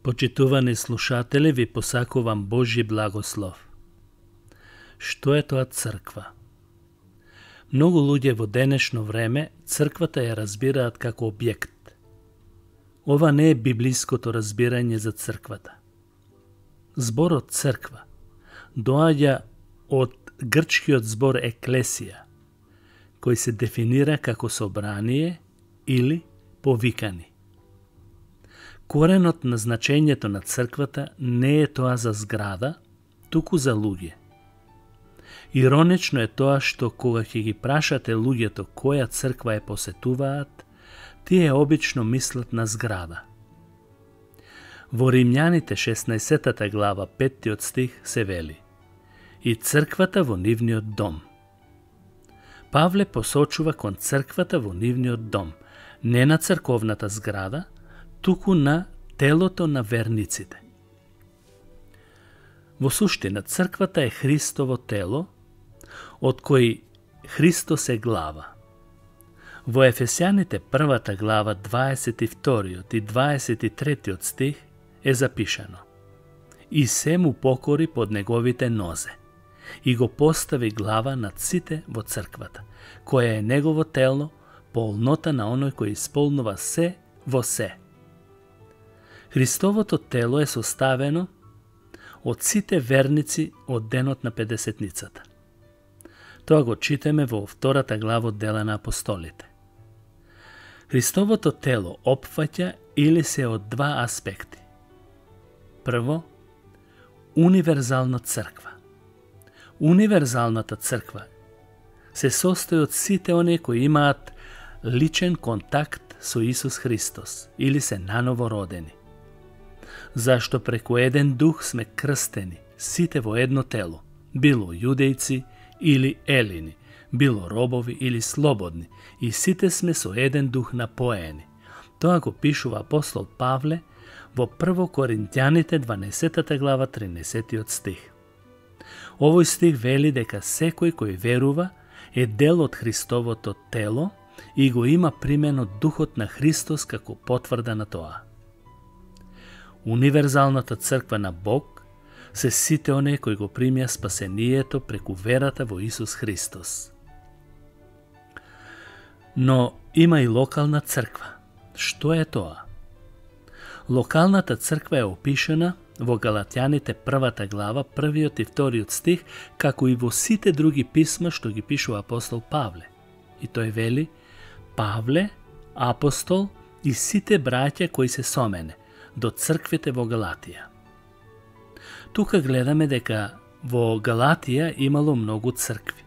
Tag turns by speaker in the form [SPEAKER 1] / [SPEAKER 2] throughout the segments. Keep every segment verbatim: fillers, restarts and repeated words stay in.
[SPEAKER 1] Почитувани слушатели, ви посакувам Божји благослов. Што е тоа црква? Многу луѓе во денешно време црквата ја разбираат како објект. Ова не е библиското разбирање за црквата. Зборот црква доаѓа од грчкиот збор еклесија, кој се дефинира како собрание или повикани. Коренот на значењето на црквата не е тоа за зграда, туку за луѓе. Иронично е тоа што кога ќе ги прашате луѓето која црква ја посетуваат, тие обично мислат на зграда. Во Римјаните шеснаесеттата глава петтиот стих се вели: и црквата во нивниот дом. Павле посочува кон црквата во нивниот дом, не на црковната зграда, туку на телото на верниците. Во суштина, црквата е Христово тело, од кој Христос е глава. Во Ефесјаните првата глава дваесет и вториот и дваесет и третиот стих е запишано: и се му покори под неговите нозе, и го постави глава над сите во црквата, која е негово тело, полнота на оној кој исполнува се во се. Христовото тело е составено од сите верници од денот на Педесетницата. Тоа го читаме во втората глава од Дела на апостолите. Христовото тело опфаќа или се од два аспекти. Прво, универзална црква. Универзалната црква се состои од сите оние кои имаат личен контакт со Исус Христос или се наново родени. Зашто преку еден дух сме крстени, сите во едно тело, било јудејци или елини, било робови или слободни, и сите сме со еден дух напоени. Тоа го пишува апостол Павле во прво Коринтјаните дванаесеттата глава тринаесеттиот стих. Овој стих вели дека секој кој верува е дел од Христовото тело и го има примено духот на Христос како потврда на тоа. Универзалната црква на Бог се сите оние кои го примија спасението преку верата во Исус Христос. Но има и локална црква. Што е тоа? Локалната црква е опишана во Галатјаните првата глава, првиот и вториот стих, како и во сите други писма што ги пишува апостол Павле. И тој вели: Павле, апостол и сите браќа кои се со мене, до црквите во Галатија. Тука гледаме дека во Галатија имало многу цркви.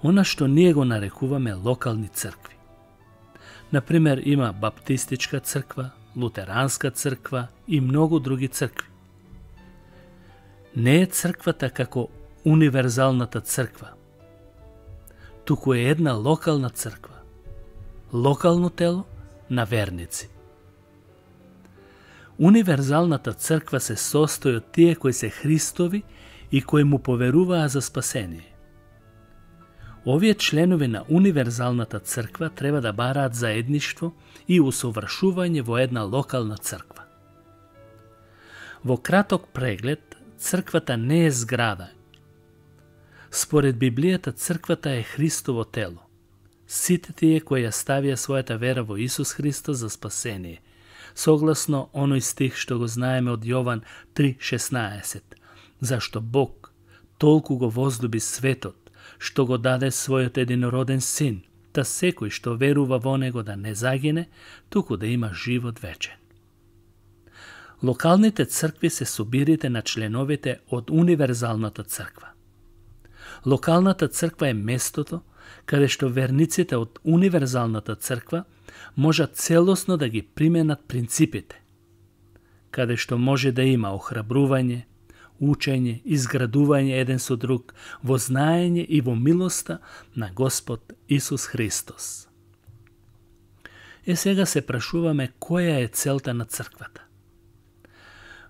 [SPEAKER 1] Она што ние го нарекуваме локални цркви. Например, има баптистичка црква, лутеранска црква и многу други цркви. Не е црквата како универзалната црква, туку е една локална црква, локално тело на верници. Универзалната црква се состои од тие кои се Христови и кои му поверуваа за спасение. Овие членови на универзалната црква треба да бараат заедништво и усовршување во една локална црква. Во краток преглед, црквата не е зграда. Според Библијата, црквата е Христово тело. Сите тие кои ја ставија својата вера во Исус Христос за спасение, согласно оној стих што го знаеме од Јован три шеснаесет. Зашто Бог толку го возлюби светот, што го даде својот единороден син, та секој што верува во него да не загине, туку да има живот вечен. Локалните цркви се собирите на членовите од универзалната црква. Локалната црква е местото каде што верниците од универзалната црква можат целосно да ги применат принципите, каде што може да има охрабрување, учење, изградување еден со друг, во знаење и во милоста на Господ Исус Христос. Е, сега се прашуваме која е целта на црквата.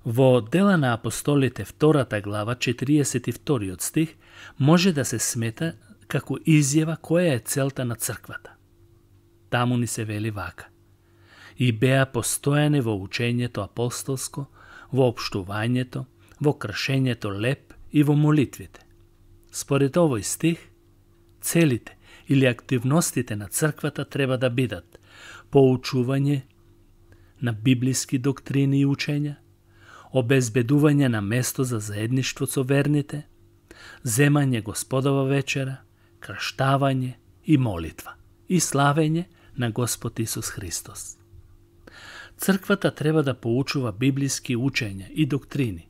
[SPEAKER 1] Во Дела на апостолите втората глава, четириесет и вториот стих, може да се смета како изјава која е целта на црквата. Таму ни се вели вака: и беа постојани во учењето апостолско, во општувањето, во кршењето леп и во молитвите. Според овој стих, целите или активностите на црквата треба да бидат поучување на библиски доктрини и учења, обезбедување на место за заедништво со верните, земање Господова вечера, крштавање и молитва и славење на Господ Исус Христос. Црквата треба да поучува библиски учења и доктрини,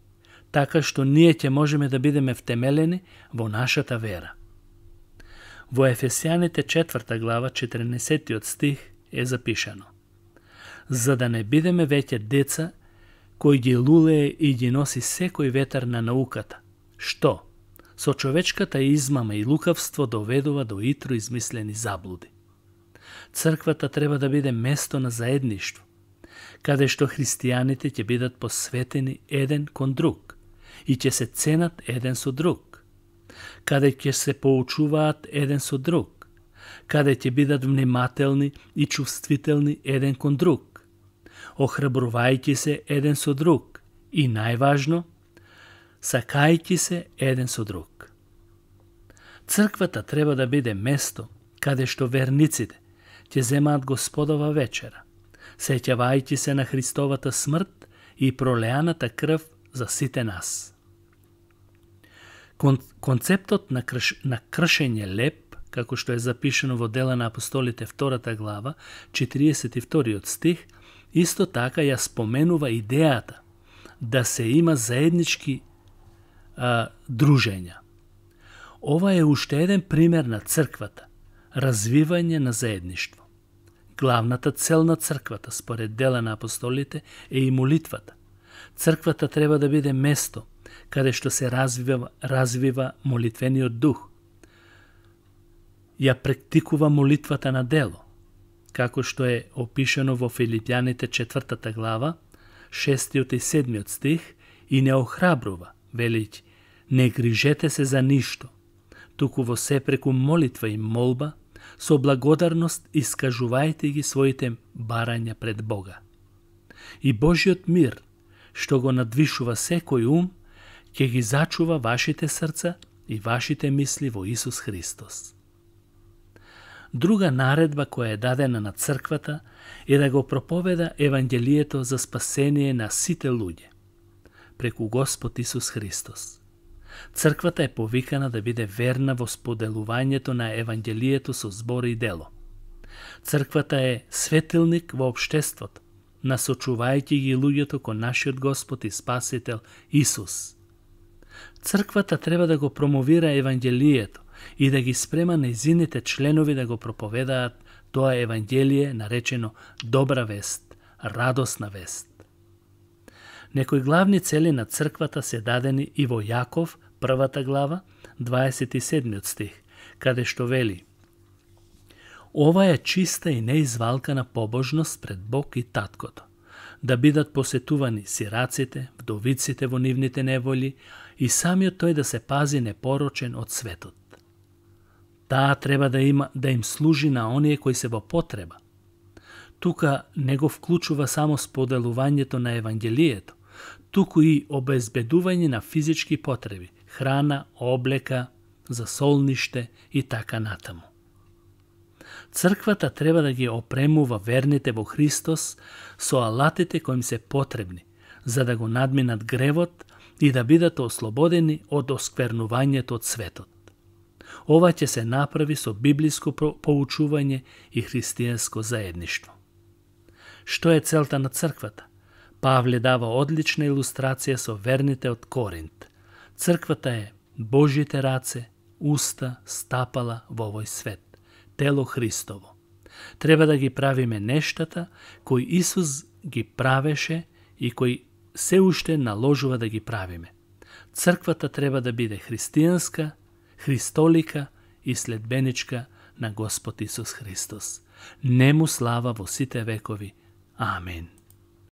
[SPEAKER 1] така што ние ќе можеме да бидеме втемелени во нашата вера. Во Ефесијаните четврта глава четрнаесеттиот стих е запишано: за да не бидеме веќе деца кои ги лулее и ги носи секој ветар на науката, што со човечката измама и лукавство доведува до итро измислени заблуди. Црквата треба да биде место на заедништво, каде што христијаните ќе бидат посветени еден кон друг и ќе се ценат еден со друг, каде ќе се поучуваат еден со друг, каде ќе бидат внимателни и чувствителни еден кон друг, охрабрувајќи се еден со друг и, најважно, сакајќи се еден со друг. Црквата треба да биде место каде што верниците ќе земаат Господова вечера, сеќавајќи се на Христовата смрт и пролеаната крв за сите нас. Кон, концептот на, крш, на кршење леп, како што е запишено во Дела на апостолите втората глава, четириесет и вториот стих, исто така ја споменува идејата да се има заеднички а, дружења. Ова е уште еден пример на црквата, развивање на заедништво. Главната цел на црквата, според Дела на апостолите, е и молитвата. Црквата треба да биде место каде што се развива, развива молитвениот дух. Ја практикува молитвата на дело, како што е опишано во Филипјаните четвртата глава, шестиот и седмиот стих, и не охрабрува, велики, не грижете се за ништо, туку во се преку молитва и молба, со благодарност искажувајте ги своите барања пред Бога. И Божиот мир, што го надвишува секој ум, ќе ги зачува вашите срца и вашите мисли во Исус Христос. Друга наредба која е дадена на црквата е да го проповеда Евангелието за спасение на сите луѓе, преку Господ Исус Христос. Црквата е повикана да биде верна во споделувањето на Евангелието со збор и дело. Црквата е светилник во општеството, насочувајќи ги луѓето кон нашиот Господ и Спасител Исус. Црквата треба да го промовира Евангелието и да ги спрема нејзините членови да го проповедаат тоа Евангелие наречено добра вест, радосна вест. Некои главни цели на црквата се дадени и во Јаков, првата глава, дваесет и седмиот стих, каде што вели: ова е чиста и неизвалкана побожност пред Бог и Таткото, да бидат посетувани сираците, вдовиците во нивните неволи и самиот тој да се пази непорочен од светот. Таа треба да има да им служи на оние кои се во потреба. Тука не го вклучува само споделувањето на Евангелието, туку и обезбедување на физички потреби, храна, облека, засолниште и така натаму. Црквата треба да ги опремува верните во Христос со алатите кои им се потребни, за да го надминат гревот и да бидат ослободени од осквернувањето од светот. Ова ќе се направи со библиско поучување и христијанско заедништво. Што е целта на црквата? Павле дава одлична илустрација со верните од Коринт. Црквата е Божите раце, уста, стапала во овој свет, тело Христово. Треба да ги правиме нештата кои Исус ги правеше и кои се уште наложува да ги правиме. Црквата треба да биде христијанска, христолика и следбеничка на Господ Исус Христос. Нему слава во сите векови. Амин.